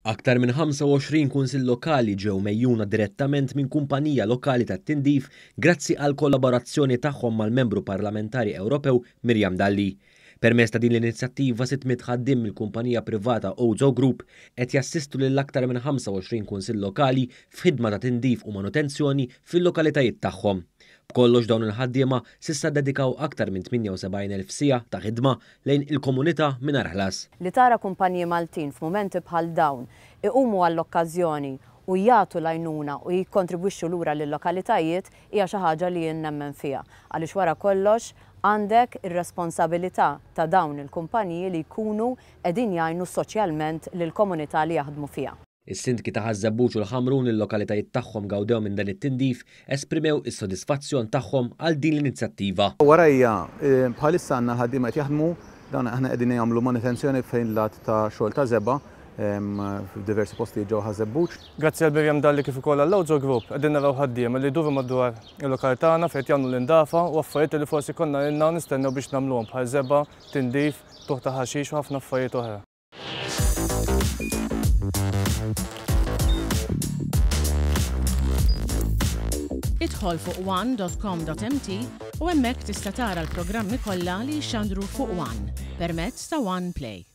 Aktar minn 25 kunsill lokali ġew megħjuna direttament minn kumpanija lokali tat-tindif grazzi għall-kollaborazzjoni tagħhom mal-Membru Parlamentari Ewropew Miriam Dalli. Permezz ta' din l-inizjattiva 600 ħaddiem mill-kumpanija privata Ozo Group qed jassistu lil aktar minn 25 kunsill lokali f'ħidma ta' tindif u manutenzjoni fil-lokalitajiet tagħhom. B'kollox dawn il-ħaddiema s'issa ddedikaw aktar minn 78,000 siegħa ta' ħidma lejn il-komunità mingħajr ħlas. Li tara kumpaniji Maltin f'mumenti bħal dawn iqumu għall-okkażjoni u jagħtu l-għajnuna u jikkontribwixxu lura lil-lokalitajiet hija xi ħaġa li jien nemmen fiha għaliex wara kollox għandek ir-responsabilità ta' dawn il-kumpaniji li jkunu qegħdin jgħinu soċjalment lill-komunità li jaħdmu fiha. Is-Sindki ta' Ħaż-Żebbuġ u l-Ħamrun li l-lokalitajiet tagħhom gawdew minn dan it-tindif esprimew is-sodisfazzjon tagħhom għal din l-inizjattiva. Warajja, bħalissa għandna l-ħaddiema qed jaħdmu, dawn aħna qegħdin jagħmlu manutenzjoni fejn lat ta' xogħol ta' żebgħa f'diversi postijiet ġewwa Ħaż-Żebbuġ. Grazzi għal Miriam Dalli kif ukoll għall-Ozo Group qegħdin naraw ħaddiema li jduru madwar il-lokal tagħna fejn qed jagħmlu l-indafa u affarijiet li forsi konna ilna nistennew biex nagħmluhom bħal żebgħa, tindif, qtugħ ta' ħaxix u ħafna affarijiet oħra. Idħol fuq one.com.mt u hemmhekk tista' tara l-programmi kollha li jixxandru fuq One permezz ta' One Play.